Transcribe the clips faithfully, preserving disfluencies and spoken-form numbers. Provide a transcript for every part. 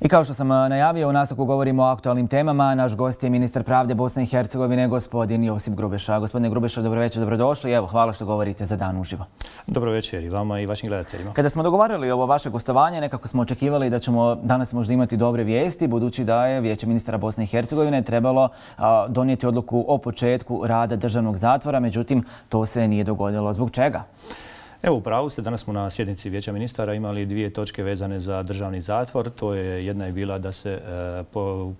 I kao što sam najavio, u nastavku govorimo o aktualnim temama. Naš gost je ministar pravde Bosne i Hercegovine, gospodin Josip Grubeša. Gospodine Grubeša, dobro večer, dobrodošli. Evo, hvala što govorite za Dan uživo. Dobro večer i vama i vašim gledateljima. Kada smo dogovarali ovo vaše gostovanje, nekako smo očekivali da ćemo danas možda imati dobre vijesti, budući da je Vijeće ministara Bosne i Hercegovine trebalo a, donijeti odluku o početku rada državnog zatvora, međutim, to se nije dogodilo. Zbog čega? Evo, u pravu ste, danas smo na sjednici Vijeća ministara imali dvije točke vezane za državni zatvor. To je, jedna je bila da se e,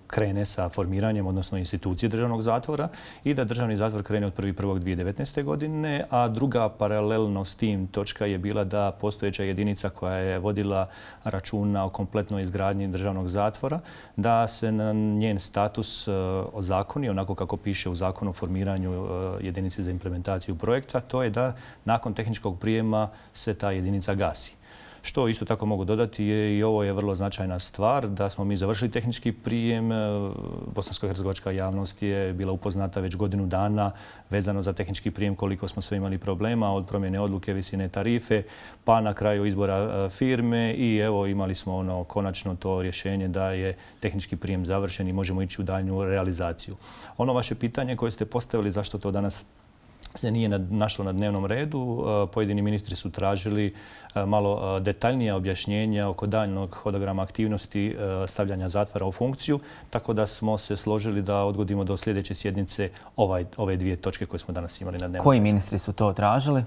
krene sa formiranjem, odnosno institucije državnog zatvora i da državni zatvor krene od prvi prvog dvije tisuće devetnaeste. godine, a druga paralelno s tim točka je bila da postojeća jedinica koja je vodila računa o kompletnoj izgradnji državnog zatvora, da se na njen status e, ozakoni, onako kako piše u zakonu o formiranju e, jedinice za implementaciju projekta, to je da nakon tehničkog prijema se ta jedinica gasi. Što isto tako mogu dodati je i ovo je vrlo značajna stvar, da smo mi završili tehnički prijem. Bosansko-hercegovačka javnost je bila upoznata već godinu dana vezano za tehnički prijem, koliko smo sve imali problema od promjene odluke, visine tarife, pa na kraju izbora firme i evo imali smo ono konačno to rješenje da je tehnički prijem završen i možemo ići u daljnju realizaciju. Ono vaše pitanje koje ste postavili zašto to danas se nije našlo na dnevnom redu. Pojedini ministri su tražili malo detaljnija objašnjenja oko daljnog hodograma aktivnosti stavljanja zatvora u funkciju, tako da smo se složili da odgodimo do sljedeće sjednice ovaj, ove dvije točke koje smo danas imali na dnevnom redu. Koji ministri su to tražili?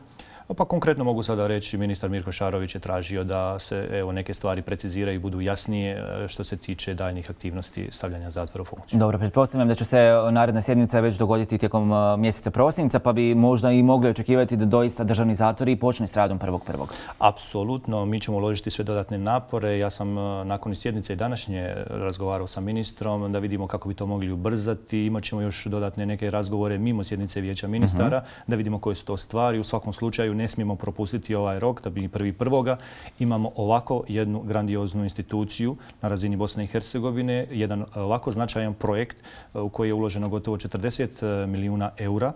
Pa konkretno mogu sada reći, ministar Mirko Šarović je tražio da se evo, neke stvari preciziraju i budu jasnije što se tiče daljnjih aktivnosti stavljanja zatvora u funkciju. Dobro, pretpostavljam da će se naredna sjednica već dogoditi tijekom mjeseca prosinca, pa bi možda i mogli očekivati da doista državni zatvor i počne s radom prvog prvog. Apsolutno, mi ćemo uložiti sve dodatne napore. Ja sam nakon sjednice i današnje razgovarao sa ministrom da vidimo kako bi to mogli ubrzati. Imat ćemo još dodatne neke razgovore mimo sjednice Vijeća ministara, uh-huh. da vidimo koje su to stvari. U svakom slučaju ne smijemo propustiti ovaj rok da bi prvi prvoga imamo ovako jednu grandioznu instituciju na razini Bosne i Hercegovine, jedan ovako značajan projekt u koji je uloženo gotovo četrdeset milijuna eura,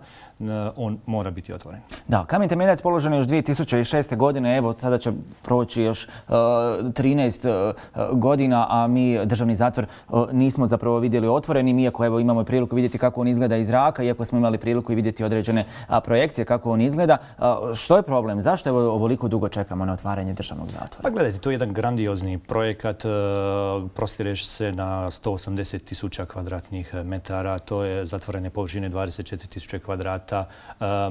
on mora biti otvoren. Da, kamen temeljac položen je još dvije tisuće šeste. godine, evo sada će proći još uh, trinaest uh, godina, a mi državni zatvor uh, nismo zapravo vidjeli otvoren, iako evo imamo priliku vidjeti kako on izgleda iz zraka, iako smo imali priliku i vidjeti određene uh, projekcije kako on izgleda. Uh, što je problem? Zašto evo ovoliko dugo čekamo na otvaranje državnog zatvora? Pa gledajte, to je jedan grandiozni projekat, prostireš se na sto osamdeset tisuća kvadratnih metara, to je zatvorene površine dvadeset četiri tisuće kvadrata.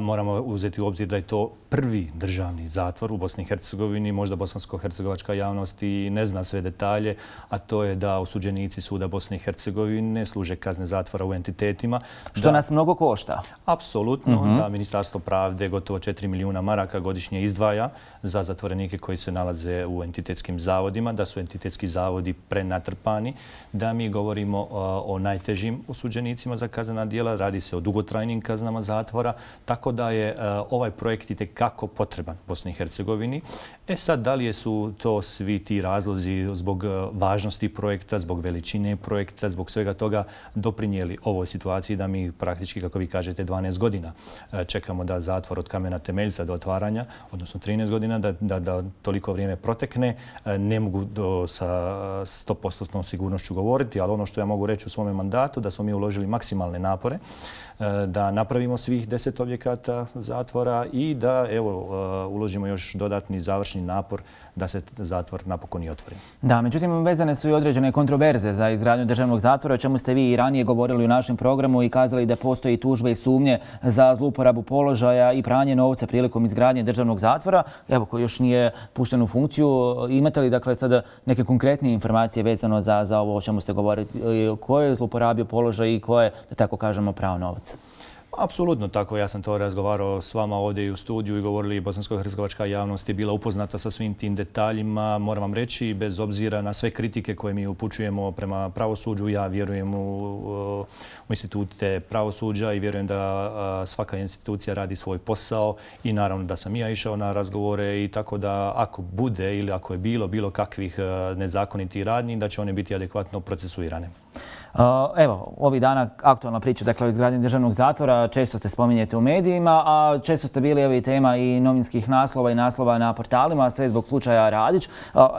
Moramo uzeti u obzir da je to prvi državni zatvor u Bosni i Hercegovini, možda bosansko-hercegovačka javnost i ne zna sve detalje, a to je da osuđenici suda Bosne i Hercegovine služe kazne zatvora u entitetima. Što nas mnogo košta. Apsolutno, uh-huh. da Ministarstvo pravde gotovo četiri milijuna maraka godišnje izdvaja za zatvorenike koji se nalaze u entitetskim zavodima, da su entitetski zavodi prenatrpani, da mi govorimo o, o najtežim osuđenicima za kaznena djela, radi se o dugotrajnim kaznama zatvora, tako da je a, ovaj projekt itekako potreban Bosni i Hercegovini. E sad, da li su to svi ti razlozi zbog važnosti projekta, zbog veličine projekta, zbog svega toga doprinijeli ovoj situaciji da mi praktički, kako vi kažete, dvanaest godina čekamo da zatvor od kamena temeljca do otvaranja, odnosno trinaest godina, da, da, da toliko vrijeme protekne. Ne mogu do, sa sto posto sigurnošću govoriti, ali ono što ja mogu reći u svome mandatu, da smo mi uložili maksimalne napore, da napravimo svih deset objekata zatvora i da evo, uložimo još dodatni završni napor da se zatvor napokon i otvori. Da, međutim, vezane su i određene kontroverze za izgradnju državnog zatvora, o čemu ste vi i ranije govorili u našem programu i kazali da postoji tužbe i sumnje za zlouporabu položaja i pranje novca prilikom izgradnje državnog zatvora, evo, koji još nije pušten u funkciju. Imate li dakle sada neke konkretnije informacije vezano za, za ovo o čemu ste govorili? Ko je zlouporabio položaj i ko je, da tako kažemo, prao novac? Apsolutno tako. Ja sam to razgovarao s vama ovdje i u studiju i govorili bosansko-hercegovačka javnost je bila upoznata sa svim tim detaljima. Moram vam reći, bez obzira na sve kritike koje mi upućujemo prema pravosuđu, ja vjerujem u, u institute pravosuđa i vjerujem da svaka institucija radi svoj posao i naravno da sam ja išao na razgovore i tako da ako bude ili ako je bilo bilo kakvih nezakonitih radnji, da će one biti adekvatno procesuirane. Evo, ovih dana aktualna priča, dakle, o izgradnji državnog zatvora, često se spominjete u medijima, a često ste bili evo, tema i novinskih naslova i naslova na portalima, sve zbog slučaja Radić.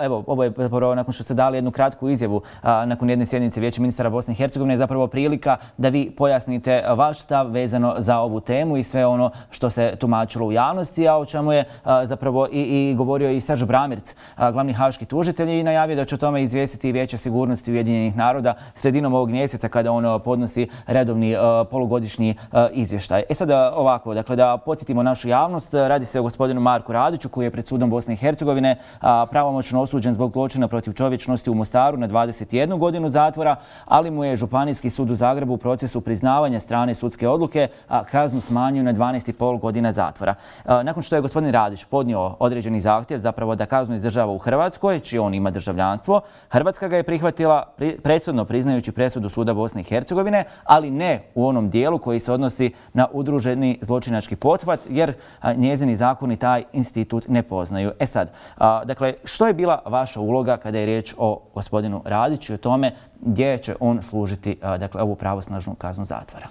Evo, ovo je zapravo, nakon što ste dali jednu kratku izjavu nakon jedne sjednice Vijeća ministara Bosne i Hercegovine, zapravo prilika da vi pojasnite vaš stav vezano za ovu temu i sve ono što se tumačilo u javnosti, a o čemu je zapravo i, i govorio i Serž Bramirc, glavni haški tužitelj, i najavio da će o tome izvijestiti i Vijeće sigurnosti Ujedinjenih naroda sredinom ovog mjeseca kada on podnosi redovni uh, polugodišnji uh, izvještaj. E sada ovako, dakle da podsjetimo našu javnost, radi se o gospodinu Marku Radiću koji je pred sudom Bosne i Hercegovine uh, pravomoćno osuđen zbog zločina protiv čovječnosti u Mostaru na dvadeset jednu godinu zatvora, ali mu je Županijski sud u Zagrebu u procesu priznavanja strane sudske odluke a kaznu smanjio na dvanaest i pol godina zatvora. Uh, nakon što je gospodin Radić podnio određeni zahtjev zapravo da kaznu izdržava u Hrvatskoj, čije on ima državljanstvo, Hrvatska ga je prihvatila pri, presudno priznajući presudu Suda Bosne i Hercegovine, ali ne u onom dijelu koji se odnosi na udruženi zločinački pothvat, jer a, njezini zakoni taj institut ne poznaju. E sad, a, dakle, što je bila vaša uloga kada je riječ o gospodinu Radiću i o tome gdje će on služiti a, dakle, ovu pravosnažnu kaznu zatvora?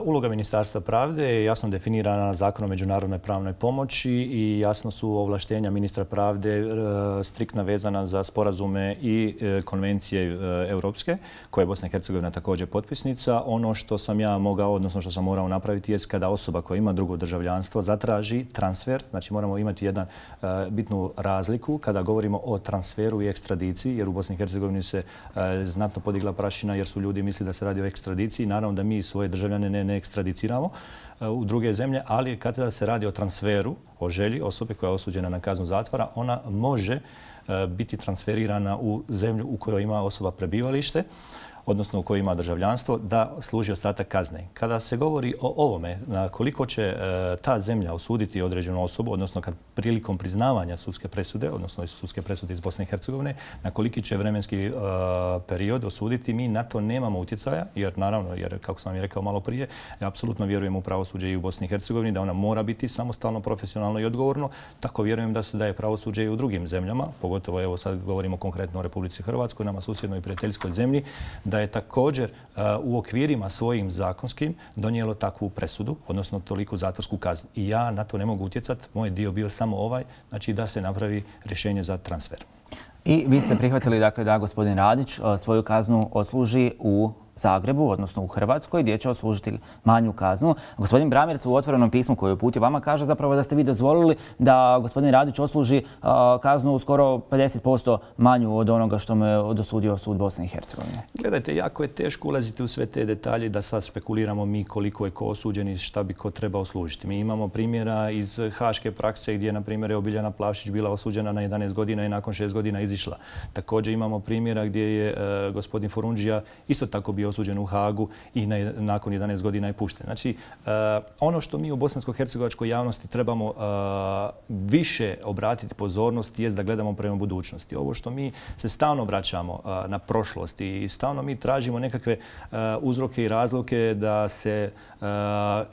Uloga Ministarstva pravde je jasno definirana Zakonom o međunarodnoj pravnoj pomoći i jasno su ovlaštenja ministra pravde striktno vezana za sporazume i konvencije europske, koje je Bosna i Hercegovina također potpisnica. Ono što sam ja mogao, odnosno što sam morao napraviti, je kada osoba koja ima drugo državljanstvo zatraži transfer, znači moramo imati jednu bitnu razliku kada govorimo o transferu i ekstradiciji, jer u Bosni i Hercegovini se znatno podigla prašina jer su ljudi mislili da se radi o ekstradiciji. Naravno da mi svoje državljane ne, ne ekstradiciramo u druge zemlje, ali kada se radi o transferu, o želji osobe koja je osuđena na kaznu zatvora, ona može biti transferirana u zemlju u kojoj ima osoba prebivalište, odnosno u kojoj ima državljanstvo, da služi ostatak kazne. Kada se govori o ovome, na koliko će e, ta zemlja osuditi određenu osobu, odnosno kad prilikom priznavanja sudske presude, odnosno sudske presude iz Bosne i Hercegovine, na koliki će vremenski e, period osuditi, mi na to nemamo utjecaja, jer naravno, jer kako sam vam rekao malo prije, ja apsolutno vjerujem u pravosuđe i u Bosni i Hercegovini, da ona mora biti samostalno, profesionalno i odgovorno. Tako vjerujem da se daje pravosuđe i u drugim zemljama, pogotovo evo sad govorimo konkretno o Republici Hrvatskoj, nama susjednoj i prijateljskoj zemlji, da je također uh, u okvirima svojim zakonskim donijelo takvu presudu, odnosno toliku zatvorsku kaznu. I ja na to ne mogu utjecati. Moj dio bio samo ovaj, znači da se napravi rješenje za transfer. I vi ste prihvatili dakle, da gospodin Radić uh, svoju kaznu odsluži u Zagrebu, odnosno u Hrvatskoj, gdje će oslužiti manju kaznu. Gospodin Bramirc u otvorenom pismu koje je uputio vama kaže zapravo da ste vi dozvolili da gospodin Radić osluži uh, kaznu u skoro pedeset posto manju od onoga što mu je dosudio sud Bosne i Hercegovine. Gledajte, jako je teško ulaziti u sve te detalje da sad špekuliramo mi koliko je ko osuđen i šta bi ko trebao oslužiti. Mi imamo primjera iz haške prakse gdje, na primjer, je Biljana Plavšić bila osuđena na jedanaest godina i nakon šest godina izišla. Također imamo primjera gdje je uh, gospodin Forundžija isto tako bio osuđen u Hagu i na, nakon jedanaest godina je pušten. Znači, uh, ono što mi u bosansko-hercegovačkoj javnosti trebamo uh, više obratiti pozornost jest da gledamo prema budućnosti. Ovo što mi se stalno vraćamo uh, na prošlost i stalno mi tražimo nekakve uh, uzroke i razloke da se, uh,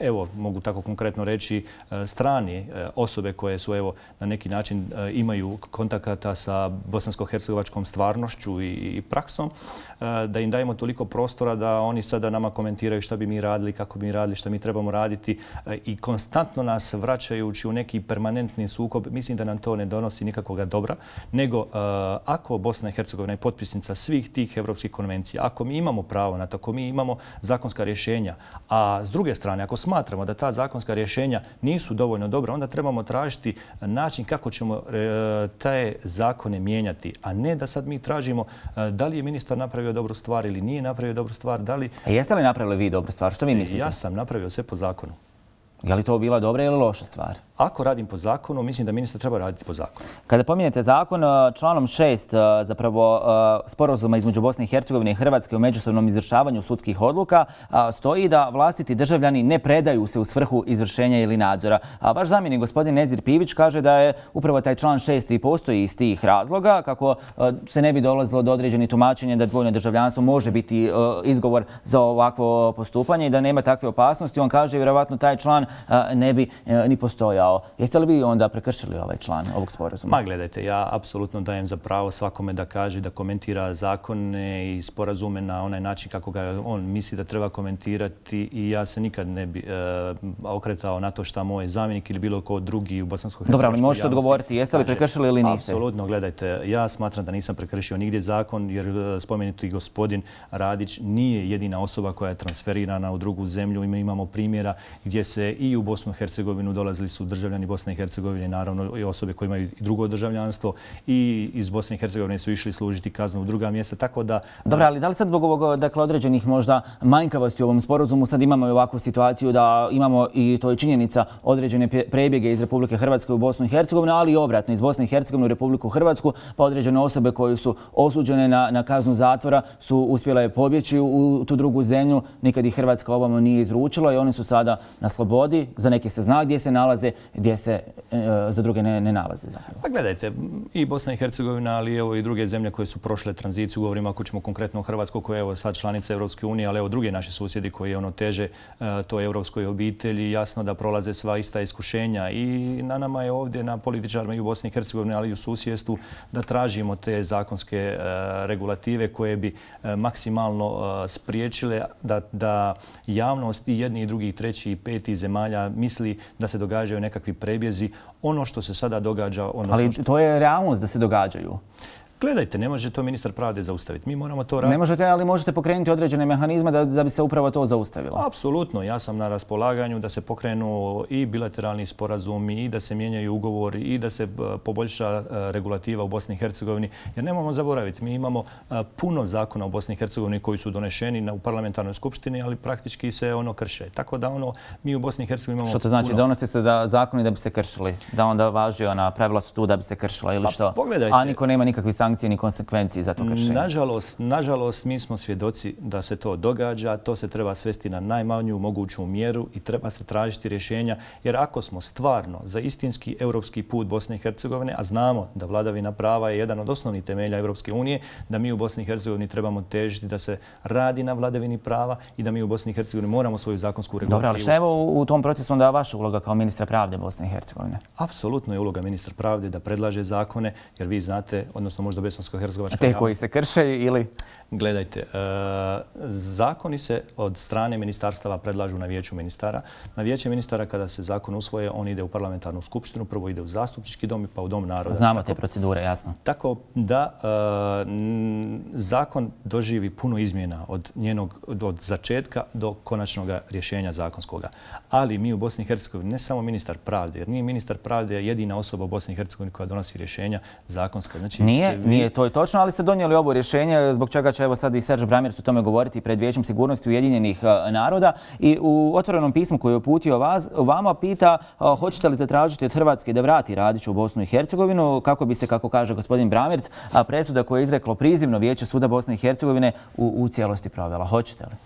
evo, mogu tako konkretno reći, uh, strani uh, osobe koje su, evo, na neki način uh, imaju kontakata sa bosansko-hercegovačkom stvarnošću i, i praksom, uh, da im dajemo toliko prostora da oni sada nama komentiraju šta bi mi radili, kako bi mi radili, šta mi trebamo raditi i konstantno nas vraćajući u neki permanentni sukob. Mislim da nam to ne donosi nikakvog dobra, nego uh, ako Bosna i Hercegovina je potpisnica svih tih evropskih konvencija, ako mi imamo pravo na to, ako mi imamo zakonska rješenja, a s druge strane, ako smatramo da ta zakonska rješenja nisu dovoljno dobra, onda trebamo tražiti način kako ćemo uh, te zakone mijenjati, a ne da sad mi tražimo uh, da li je ministar napravio dobru stvar ili nije napravio dobru stvar. Da li... A jeste li napravili vi dobru stvar? Što vi mislite? Ja sam napravio sve po zakonu. Je li to bila dobra ili loša stvar? Ako radim po zakonu, mislim da ministar treba raditi po zakonu. Kada pominjete zakon, članom šest zapravo sporazuma između Bosne i Hercegovine i Hrvatske o međusobnom izvršavanju sudskih odluka stoji da vlastiti državljani ne predaju se u svrhu izvršenja ili nadzora. A vaš zamjenik, gospodin Nezir Pivić, kaže da je upravo taj član šest i postoji iz tih razloga kako se ne bi dolazilo do određenih tumačenja da dvojno državljanstvo može biti izgovor za ovakvo postupanje i da nema takve opasnosti. On kaže vjerovatno taj član ne bi ni postojao. napadao. Jeste li vi onda prekršili ovaj član ovog sporazuma? Ma gledajte, ja apsolutno dajem za pravo svakome da kaže, da komentira zakone i sporazume na onaj način kako ga on misli da treba komentirati i ja se nikad ne bi e, okretao na to šta moj zamjenik ili bilo ko drugi u bosansko-hercegovačkoj Dobro, ali možete odgovoriti, jeste li prekršili ili niste? Apsolutno, gledajte, ja smatram da nisam prekršio nigdje zakon jer spomenuti gospodin Radić nije jedina osoba koja je transferirana u drugu zemlju. Mi imamo primjera gdje se i u Bosnu i Hercegovinu dolazili su državljani Bosne i Hercegovine, naravno i osobe koje imaju drugo državljanstvo i iz Bosne i Hercegovine su išli služiti kaznu u druga mjesta, tako da... Dobro, ali da li sad zbog ovog, dakle, određenih možda manjkavosti u ovom sporazumu sad imamo i ovakvu situaciju da imamo, i to je činjenica, određene prebjege iz Republike Hrvatske u Bosnu i Hercegovinu, ali i obratno iz Bosne i Hercegovine u Republiku Hrvatsku, pa određene osobe koje su osuđene na, na kaznu zatvora su uspjele pobjeći u, u tu drugu zemlju, nikad ih Hrvatska ovamo nije izručila i oni su sada na slobodi. Za neke se zna gdje se nalaze, gdje se e, za druge ne, ne nalaze. Zapravo. Pa gledajte, i Bosna i Hercegovina, ali evo i druge zemlje koje su prošle tranziciju, govorimo ako ćemo konkretno o Hrvatsku koja je evo sad članica Europske unije, ali evo druge naše susjedi koji ono teže e, toj europskoj obitelji, jasno da prolaze sva ista iskušenja i na nama je ovdje, na političarima i u Bosni i Hercegovini, ali i u susjedstvu, da tražimo te zakonske e, regulative koje bi e, maksimalno e, spriječile da, da javnost i jedni i drugi, i treći i peti zemalja misli da se događaju nekakvi prebjezi. Ono što se sada događa... Ali to je realnost da se događaju. Gledajte, ne može to ministar pravde zaustaviti. Mi moramo to raditi. Ne možete, ali možete pokrenuti određene mehanizme da, da bi se upravo to zaustavilo. Apsolutno. Ja sam na raspolaganju da se pokrenu i bilateralni sporazumi i da se mijenjaju ugovori i da se poboljša regulativa u Bosni i Hercegovini. Jer nemamo zaboraviti, mi imamo puno zakona u Bosni i Hercegovini koji su donešeni u parlamentarnoj skupštini, ali praktički se ono krše. Tako da ono, mi u Bosni i Hercegovini imamo... Što to znači? Puno... Donose se da zakoni da bi se kršili? Da onda važi ona pravila su tu da bi se kršila ili što? Pa, a niko nema nikakvih sankcija ni konsekvencije za to kršenje. Nažalost, nažalost, mi smo svjedoci da se to događa. To se treba svesti na najmanju moguću mjeru i treba se tražiti rješenja. Jer ako smo stvarno za istinski europski put Bosne i Hercegovine, a znamo da vladavina prava je jedan od osnovnih temelja Europske unije, da mi u Bosni i Hercegovini trebamo težiti da se radi na vladavini prava i da mi u Bosni i Hercegovini moramo svoju zakonsku regulativu. Dobro, ali šta je u, u tom procesu onda vaša uloga kao ministra pravde Bosne i Hercegovine? Apsolutno je uloga ministra pravde da predlaže zakone, jer vi znate, odnosno možda bosansko-hercegovačka te koji se krše ili? Gledajte, e, zakoni se od strane ministarstava predlažu na vijeću ministara. Na vijeće ministara kada se zakon usvoje, on ide u parlamentarnu skupštinu, prvo ide u zastupnički dom pa u dom naroda. Znamo tako, te procedure, jasno. Tako da e, zakon doživi puno izmjena od njenog od začetka do konačnog rješenja zakonskoga. Ali mi u Bosni i Hercegovini, ne samo ministar pravde, jer nije ministar pravde jedina osoba u Bosni i Hercegovini koja donosi rješenja zakonska. Znači, nije, vi... nije, to je točno, ali ste donijeli ovo rješenje zbog čega će evo sad i Serge Brammertz o tome govoriti pred Vijećem sigurnosti Ujedinjenih naroda i u otvorenom pismu koje je uputio vas, vama pita hoćete li zatražiti od Hrvatske da vrati Radića u Bosnu i Hercegovinu kako bi se, kako kaže gospodin Brammertz, presuda koja je izreklo prizivno Vijeće suda Bosne i Hercegovine u, u cijelosti provela. Hoćete li?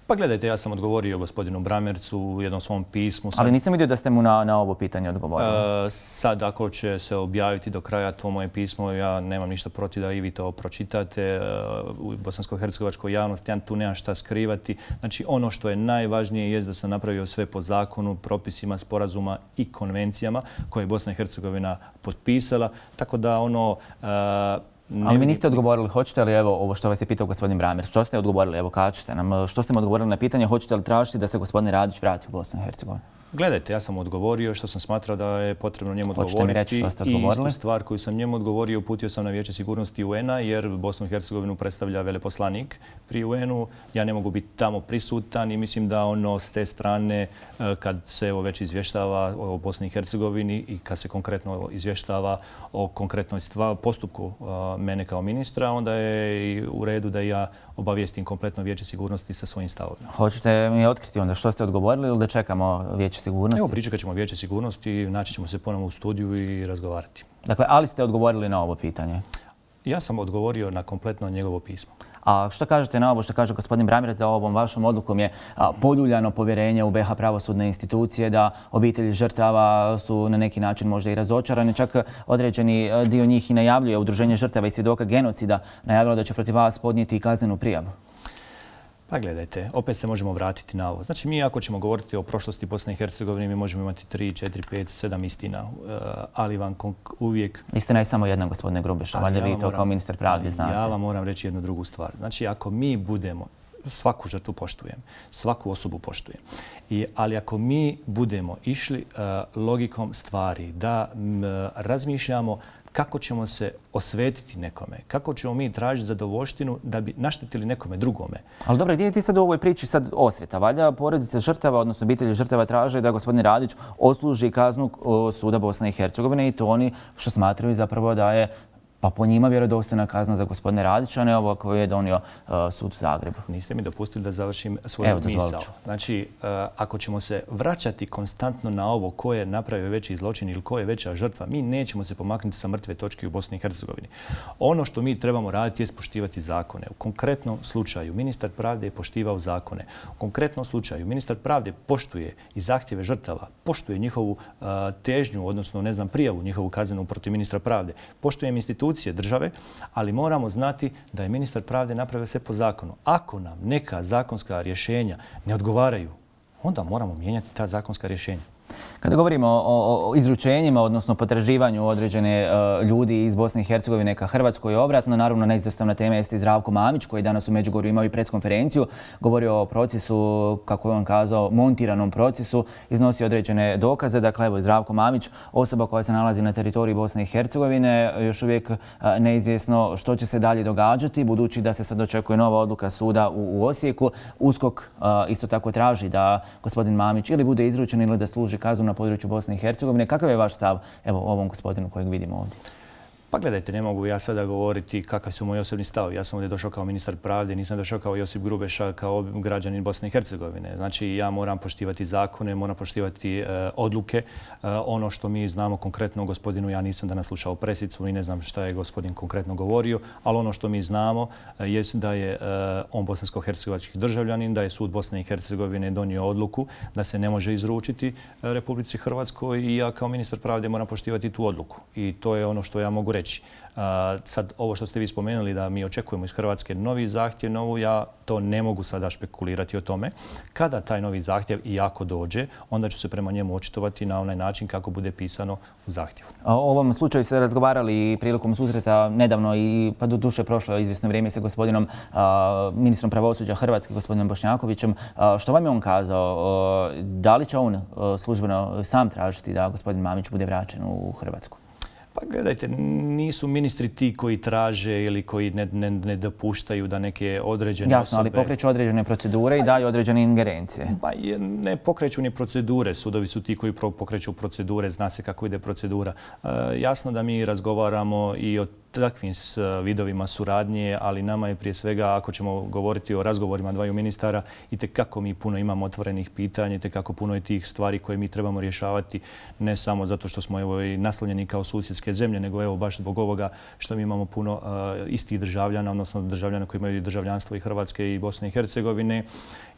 Pa gledajte, ja sam odgovorio gospodinu Brammertzu u jednom svom pismu. Sad, ali nisam vidio da ste mu na, na ovo pitanje odgovorili. Uh, sad, ako će se objaviti do kraja to moje pismo, ja nemam ništa protiv da i vi to pročitate. Uh, u bosansko-hercegovačkoj javnosti ja tu nemam šta skrivati. Znači, ono što je najvažnije je da sam napravio sve po zakonu, propisima, sporazuma i konvencijama koje je Bosna i Hercegovina potpisala. Tako da ono... Uh, Ne ali mi niste odgovorili, hoćete li, evo, ovo što vas je pitao gospodin Brammertz, što ste odgovorili, evo, kažete nam, što ste mu odgovorili na pitanje, hoćete li tražiti da se gospodin Radić vrati u Bosnu i Hercegovinu? Gledajte, ja sam odgovorio što sam smatrao da je potrebno njemu odgovoriti. Hoćete mi reći što ste odgovorili? I istu stvar koju sam njemu odgovorio uputio sam na Vijeće sigurnosti U N-a jer Bosnu i Hercegovinu predstavlja veleposlanik pri U N-u. Ja ne mogu biti tamo prisutan i mislim da ono s te strane kad se evo već izvještava o Bosni i Hercegovini i kad se konkretno izvještava o konkretnoj stvar, postupku mene kao ministra, onda je i u redu da ja obavijestim kompletno Vijeće sigurnosti sa svojim stavovima. Hoćete mi otkriti onda što ste odgovorili ili da čekamo Vijeće sigurnosti? Evo, pričekat ćemo Vijeće sigurnosti, naći ćemo se ponovno u studiju i razgovarati. Dakle, ali ste odgovorili na ovo pitanje? Ja sam odgovorio na kompletno njegovo pismo. A što kažete na ovo što kaže gospodin Brammertz za ovom vašom odlukom je poljuljano povjerenje u B iH pravosudne institucije, da obitelji žrtava su na neki način možda i razočarani. Čak određeni dio njih i najavljuje, Udruženje žrtava i svjedoka genocida najavilo da će protiv vas podnijeti i kaznenu prijavu. Pa gledajte, opet se možemo vratiti na ovo. Znači, mi ako ćemo govoriti o prošlosti Bosne i Hercegovine, mi možemo imati tri, četiri, pet, sedam istina, ali vam uvijek... Istina je samo jedna, gospodine Grubiša, valjda vi to kao ministar pravde znate. Ja vam moram reći jednu drugu stvar. Znači, ako mi budemo, svaku žrtvu poštujem, svaku osobu poštujem, I, ali ako mi budemo išli uh, logikom stvari, da m, razmišljamo kako ćemo se osvetiti nekome, kako ćemo mi tražiti zadovoljštinu da bi naštetili nekome drugome. Ali dobro, gdje je ti sad u ovoj priči sad osveta? Valjda porodice žrtava, odnosno obitelji žrtava traže da gospodin Radić odsluži kaznu suda Bosne i Hercegovine i to oni što smatraju zapravo da je pa po njima vjerodostojna kazna za gospodine Radića, ne ovo koju je donio uh, sud u Zagrebu. Niste mi dopustili da završim svoju misao. Znači, uh, ako ćemo se vraćati konstantno na ovo ko je napravio veći zločin ili ko je veća žrtva, mi nećemo se pomaknuti sa mrtve točke u Bosni i Hercegovini. Ono što mi trebamo raditi je poštivati zakone. U konkretnom slučaju ministar pravde je poštivao zakone. U konkretnom slučaju ministar pravde poštuje i zahtjeve žrtava, poštuje njihovu uh, težnju, odnosno ne znam, prijavu njihovu kaznenu protiv ministra pravde, poštuje institucije države, ali moramo znati da je ministar pravde napravio sve po zakonu. Ako nam neka zakonska rješenja ne odgovaraju, onda moramo mijenjati ta zakonska rješenja. Kada govorimo o, o izručenjima, odnosno potraživanju određene uh, ljudi iz Bosne i Hercegovine ka Hrvatskoj obratno, naravno neizostavna tema jeste i Zdravko Mamić, koji danas u Međugorju imao i preskonferenciju, govorio o procesu, kako je on kazao, montiranom procesu, iznosi određene dokaze. Dakle, evo, Zdravko Mamić, osoba koja se nalazi na teritoriji Bosne i Hercegovine, još uvijek uh, neizvjesno što će se dalje događati, budući da se sad očekuje nova odluka suda u, u Osijeku. USKOK uh, isto tako traži da gospodin Mamić ili bude izručen ili da služi kaznu na području Bosne i Hercegovine. Kakav je vaš stav evo ovom gospodinu kojeg vidimo ovdje? Pa gledajte, ne mogu ja sada govoriti kakav su moji osobni stav. Ja sam ovdje došao kao ministar pravde, nisam došao kao Josip Grubeša, kao građanin Bosne i Hercegovine. Znači, ja moram poštivati zakone, moram poštivati uh, odluke. Uh, ono što mi znamo konkretno o gospodinu, ja nisam danas slušao presicu i ne znam šta je gospodin konkretno govorio, ali ono što mi znamo uh, je da je uh, on bosansko-hercegovački državljanin, da je sud Bosne i Hercegovine donio odluku da se ne može izručiti uh, Republici Hrvatskoj i ja kao ministar pravde moram poštivati tu odluku. I to je ono što ja mogu reći. Uh, sad, ovo što ste vi spomenuli da mi očekujemo iz Hrvatske novi zahtjev, novu, ja to ne mogu sada špekulirati o tome. Kada taj novi zahtjev i ako dođe, onda ću se prema njemu očitovati na onaj način kako bude pisano u zahtjevu. O ovom slučaju ste razgovarali prilikom susreta nedavno i pa do duše prošlo izvjesno vrijeme sa gospodinom uh, ministrom pravosuđa Hrvatske, gospodinom Bošnjakovićem. Uh, što vam je on kazao? Uh, da li će on uh, službeno sam tražiti da gospodin Mamić bude vraćen u Hrvatsku? Pa gledajte, nisu ministri ti koji traže ili koji ne, ne, ne dopuštaju da neke određene Jasno, osobe... ali pokreću određene procedure i daju određene ingerencije. Pa ne pokreću ni procedure. Sudovi su ti koji pokreću procedure, zna se kako ide procedura. E, jasno da mi razgovaramo i o takvim vidovima suradnje, ali nama je prije svega, ako ćemo govoriti o razgovorima dvaju ministara, i tekako mi puno imamo otvorenih pitanja, i tekako puno je tih stvari koje mi trebamo rješavati, ne samo zato što smo evo, i naslonjeni kao susjedske zemlje, nego evo baš zbog ovoga što mi imamo puno uh, istih državljana, odnosno državljana koji imaju državljanstvo i Hrvatske i Bosne i Hercegovine.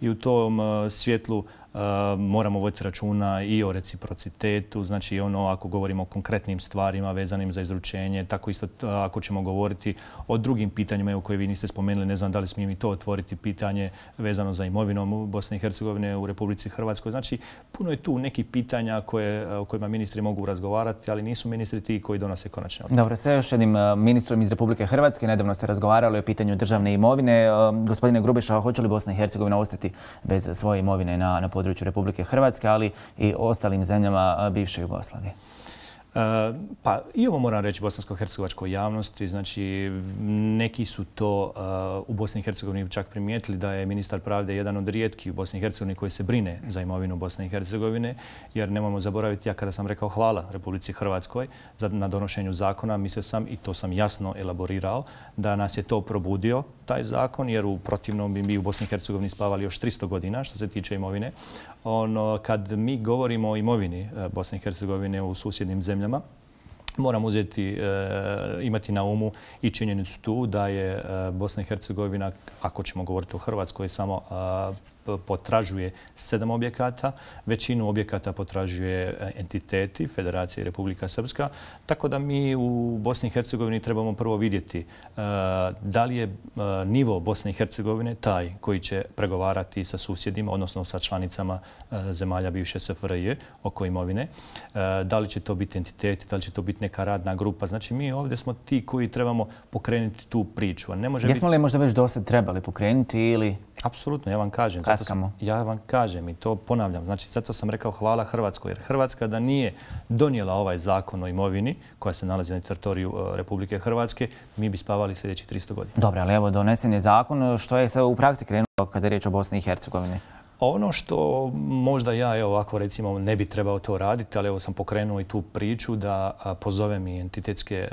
I u tom uh, svjetlu Uh, moramo voditi računa i o reciprocitetu, znači ono ako govorimo o konkretnim stvarima vezanim za izručenje, tako isto uh, ako ćemo govoriti o drugim pitanjima evo, koje vi niste spomenuli, ne znam da li smijem i to otvoriti, pitanje vezano za imovinom Bosne i Hercegovine u Republici Hrvatskoj. Znači puno je tu nekih pitanja koje, o kojima ministri mogu razgovarati, ali nisu ministri ti koji donose konačne odluke. Dobro, sa još jednim ministrom iz Republike Hrvatske. Nedavno ste razgovarali o pitanju državne imovine. Gospodine Grubeša, hoće li Bosna i Hercegovina ostati bez svoje imovine na, na području Republike Hrvatske, ali i ostalim zemljama bivše Jugoslavije? Uh, pa i ovo moram reći bosansko-hercegovačkoj javnosti. Znači, neki su to uh, u Bosni i Hercegovini čak primijetili da je ministar pravde jedan od rijetkih u Bosni i Hercegovini koji se brine za imovinu Bosne i Hercegovine, jer nemojmo zaboraviti, ja kada sam rekao hvala Republici Hrvatskoj za, na donošenju zakona, mislio sam, i to sam jasno elaborirao, da nas je to probudio, taj zakon, jer u protivnom bi mi u Bosni i Hercegovini spavali još tristo godina što se tiče imovine. Ono, kad mi govorimo o imovini Bosne i Hercegovine u susjednim zemljama, moram uzeti, e, imati na umu i činjenicu tu da je e, Bosna i Hercegovina, ako ćemo govoriti o Hrvatskoj, samo e, potražuje sedam objekata, većinu objekata potražuje entiteti Federacije i Republika Srpska, tako da mi u Bosni i Hercegovini trebamo prvo vidjeti da li je nivo Bosne i Hercegovine taj koji će pregovarati sa susjedima, odnosno sa članicama zemalja bivše S F R J oko imovine, da li će to biti entiteti, da li će to biti neka radna grupa. Znači mi ovdje smo ti koji trebamo pokrenuti tu priču. Jesmo li možda već dosad trebali pokrenuti ili... Apsolutno, ja vam kažem. Kaskamo. Ja vam kažem i to ponavljam. Znači, zato sam rekao hvala Hrvatskoj. Jer Hrvatska da nije donijela ovaj zakon o imovini koja se nalazi na teritoriju Republike Hrvatske, mi bi spavali sljedeći tristo godina. Dobro, ali evo donesen je zakon. Što je se u praksi krenulo kada je riječ o Bosni i Hercegovini? Ono što možda ja, evo ovako recimo, ne bi trebao to raditi, ali evo sam pokrenuo i tu priču da pozovem i entitetske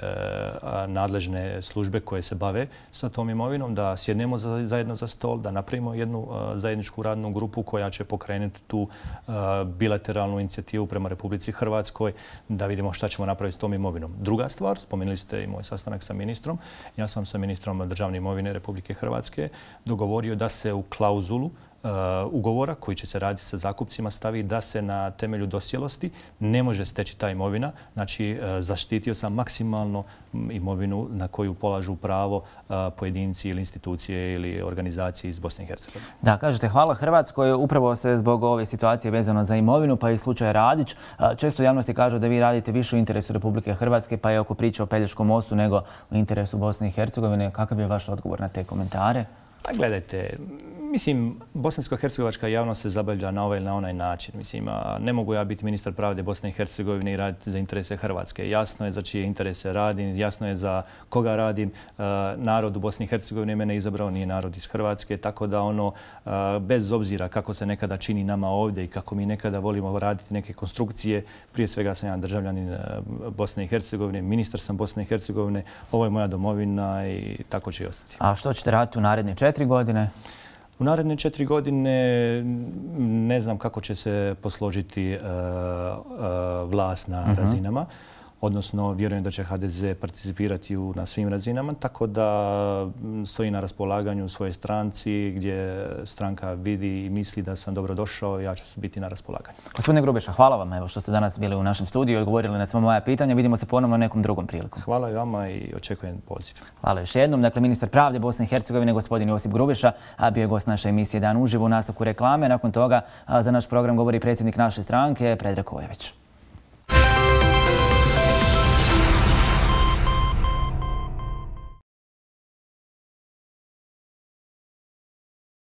nadležne službe koje se bave sa tom imovinom, da sjednemo zajedno za stol, da napravimo jednu zajedničku radnu grupu koja će pokrenuti tu bilateralnu inicijativu prema Republici Hrvatskoj, da vidimo šta ćemo napraviti s tom imovinom. Druga stvar, spomenuli ste i moj sastanak sa ministrom. Ja sam sa ministrom državne imovine Republike Hrvatske dogovorio da se u klauzulu ugovora koji će se raditi sa zakupcima stavi da se na temelju dosjelosti ne može steći ta imovina. Znači, zaštitio sam maksimalno imovinu na koju polažu pravo pojedinci ili institucije ili organizacije iz Bosne i Hercegovine. Da, kažete hvala Hrvatskoj. Upravo se zbog ove situacije vezano za imovinu, pa i slučaj Radić, često u javnosti kažu da vi radite više u interesu Republike Hrvatske, pa je oko priče o Pelješkom mostu nego u interesu Bosne i Hercegovine. Kakav je vaš odgovor na te komentare? Pa gledajte, mislim, bosansko-hercegovačka javnost se zabavlja na ovaj ili na onaj način. Mislim, ne mogu ja biti ministar pravde Bosne i Hercegovine i raditi za interese Hrvatske. Jasno je za čije interese radim, jasno je za koga radim. Narod u Bosni i Hercegovini mene izabrao, nije narod iz Hrvatske, tako da ono, bez obzira kako se nekada čini nama ovdje i kako mi nekada volimo raditi neke konstrukcije, prije svega sam ja državljanin Bosne i Hercegovine, ministar sam Bosne i Hercegovine, ovo je moja domovina i tako će i ostati. A što ćete raditi u naredne četiri godine? U naredne četiri godine ne znam kako će se posložiti vlast na razinama. Odnosno, vjerujem da će H D Z participirati na svim razinama, tako da stoji na raspolaganju svojoj stranci gdje stranka vidi i misli da sam dobro došao, ja ću biti na raspolaganju. Gospodine Grubeša, hvala vam evo što ste danas bili u našem studiju i odgovorili na sva moja pitanja. Vidimo se ponovno nekom drugom prilikom. Hvala i vama i očekujem poziv. Hvala još jednom. Dakle, ministar pravde Bosne i Hercegovine, gospodin Josip Grubeša, bio je gost naše emisije Dan uživo u nastavku reklame. Nakon toga za naš program govori predsjednik naše stranke, Predrag Kojević.